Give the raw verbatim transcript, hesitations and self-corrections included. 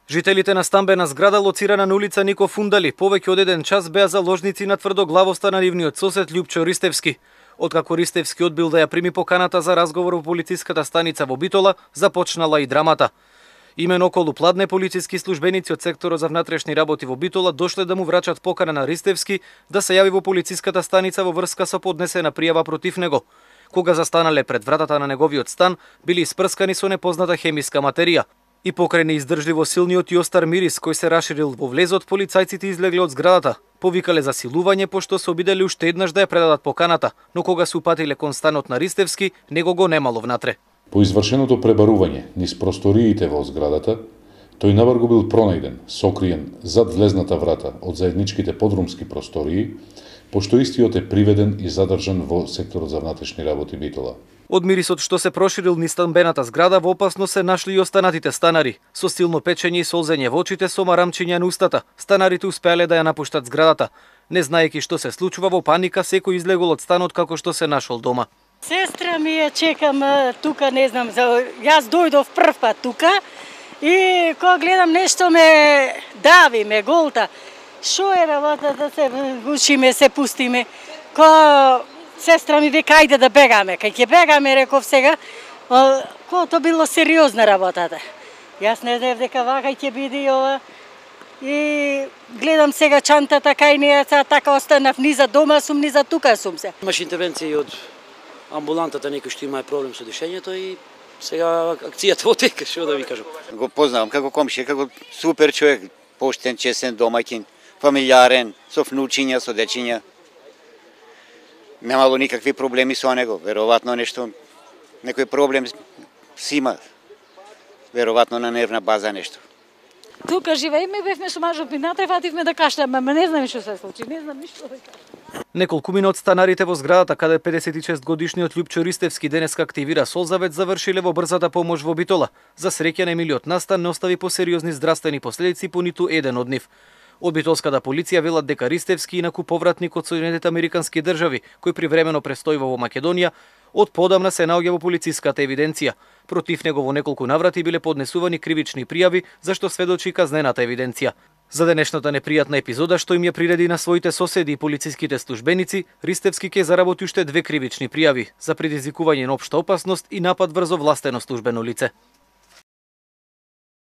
Жителите на стамбена зграда лоцирана на улица Нико Фундали повеќе од еден час беа заложници на тврдоглавоста на нивниот сосед Љупчо Ристевски. Откако Ристевски одбил да ја прими поканата за разговор во полициската станица во Битола, започнала и драмата. Имено околу пладне полициски службеници од секторот за внатрешни работи во Битола дошле да му врачат покана на Ристевски да се јави во полициската станица во врска со поднесена пријава против него. Кога застанале пред вратата на неговиот стан, били испрскани со непозната хемиска материја. И покрај неиздржливо силниот и остар мирис кој се раширил во влезот, полицајците излегле од зградата. Повикале за силување пошто се обиделе уште еднаш да ја предадат поканата, но кога се упатиле кон станот на Ристевски, него го немало внатре. По извршеното пребарување низ просториите во зградата, тој наврго бил пронајден, сокриен зад влезната врата од заедничките подрумски простории, пошто истиот е приведен и задржан во секторот за внатрешни работи Битола. Од мирисот што се проширил низ стамбената зграда, во опасност се нашли и останатите станари. Со силно печење и солзење во очите, со марамчиња на устата, станарите успеале да ја напуштат зградата. Не знаеки што се случува, во паника секој излегол од станот како што се нашол дома. Сестра ми ја чекам тука, не знам, за... јас дојдов прв пат тука и кога гледам нешто ме дави, ме голта. Шо е работа да се гушиме, се пустиме? Ко сестра ми вика ајде да бегаме. Кај ќе бегаме, реков сега, ко то било сериозна работата. Јас не знаев дека вака ќе биде ова. И гледам сега чантата кај неја, така останав низа дома сум, низа тука сум се. Имаш интервенција од амбулантата, некој што има проблем со дишењето и сега акцијата отека, што да ви кажам. Го познавам како комшија, како супер човек, поштен, честен домаќин, фамилиарен, со внучиња, со дечиња. Немало никакви проблеми со него, веројатно нешто, некој проблем си има, веројатно на нервна база нешто. Тука живееме, бевме со мажот мината и фативме да кашлеме, ама не знам што се случи, не знам ништо да кажам. Неколку мина од станарите во зградата каде педесет и шест годишниот Љупчо Ристевски денеска активира Солзавет завршиле во брзата помош во Битола. За среќа немилиот настан не остави посериозни здравствени последици по ниту еден од нив. Од битолската полиција велат дека Ристевски, инаку повратник од Соединетите Американски држави, кој привремено престојува во Македонија, од подамна се наоѓа во полициската евиденција. Против него во неколку наврати биле поднесувани кривични пријави, зашто сведочи казнената евиденција. За денешната непријатна епизода што им ја приреди на своите соседи и полициските службеници, Ристевски ќе заработи уште две кривични пријави за предизвикување на општа опасност и напад врз овластено службено лице.